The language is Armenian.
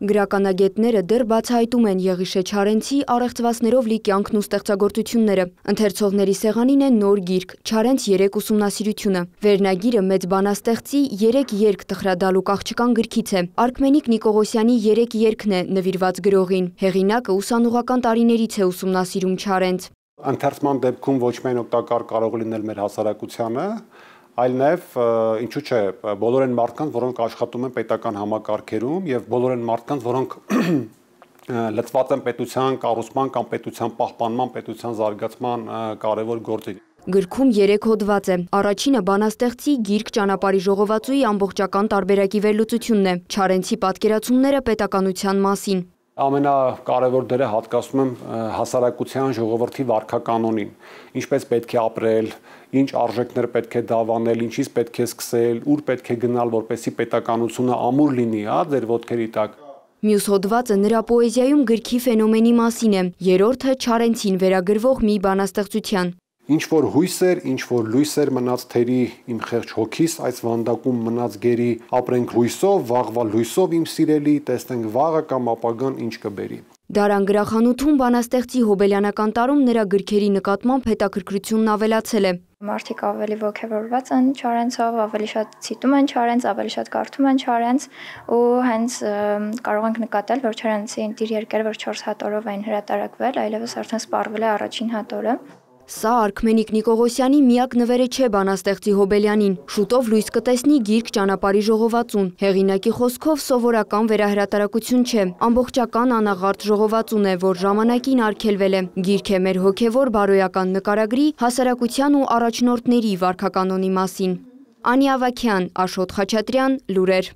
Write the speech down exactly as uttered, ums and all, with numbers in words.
Գրականագետները դեռ բացահայտում են Եղիշե Չարենցի առեղծվածներով լի կյանքն ու ստեղծագործությունները։ Ընթերցողների սեղանին է նոր գիրք «Չարենց երեք ուսումնասիրությունը»։ Վերնագիրը մեծ բանաստեղծի երեք երգ տխրադալու աղջկան գրքից է։ Արքմենիկ Նիկողոսյանի երեք երգն է նվիրված գրողին։ Հեղինակը ուսանողական տարիներից է ուսումնասիրում Չարենց։ Ընթերցման դեպքում ոչ միայն օգտակար կարող լինել մեր հասարակությանը, այլ նաև ինչու՞ չէ, բոլոր այն մարդկանց, որոնք աշխատում են պետական համակարգերում եւ բոլոր այն մարդկանց, որոնք լծված են պետության կառուցման կամ պետության պահպանման, պետության զարգացման կարևոր գործի։ Գրքում երեք հոդված է։ Առաջինը բանաստեղծի գիրք ճանապարհի ժողովածուի ամբողջական տարբերակի վերլուծությունն է։ Չարենցի պատկերացումները պետականության մասին։ Ամենակարևոր դերը հատկացնում եմ հասարակության ժողովրդի վարքականոնին, ինչպես պետք է ապրել, ինչ արժեքներ պետք է դավանել, ինչից պետք է սկսել, ուր պետք է գնալ, որպեսզի պետականությունը ամուր լինի, հա, ձեր ոտքերի տակ։ Մյուս հոդվածը նրա պոեզիայում գրքի ֆենոմենի մասին է, երրորդը Չարենցին վերագրվող մի բանաստեղծության։ Ինչ որ հույսեր, ինչ որ լույսեր մնաց թերի իմ խեղճ հոգիս, այս վանդակում մնաց գերի, ապրենք հույսով, վաղվա լույսով իմ սիրելի, տեսնենք վաղը կամ ապագան ինչ կբերի։ Դարան գրախանութում բանաստեղծի հոբելյանական տարում նրա գրքերի նկատմամբ հետաքրքրությունն ավելացել է։ Մարդիկ ավելի ոգևորված են Չարենցով, ավելի շատ ցիտում են Չարենց, ավելի շատ կարդում են Չարենց ու հենց կարող ենք նկատել, որ Չարենցի իր երկերը, որ չորս հատորով էին հրատարակվել, այլևս արդեն սպառվել է առաջին հատորը։ Սա Արքմենիկ Նիկողոսյանի միակ նվերը չէ բանաստեղծի Հոբելյանին։ Շուտով լույս կտեսնի գիրք ճանապարհի ժողովածուն։ Հեղինակի խոսքով սովորական վերահրատարակություն չէ, ամբողջական անաղարտ ժողովածուն է, որ ժամանակին արգելվել է։ Գիրք է մեր հոգևոր բարոյական նկարագրի, հասարակության ու առաջնորդների վարքականոնի մասին։ Անի Ավագյան, Աշոտ Խաչատրյան, լուրեր։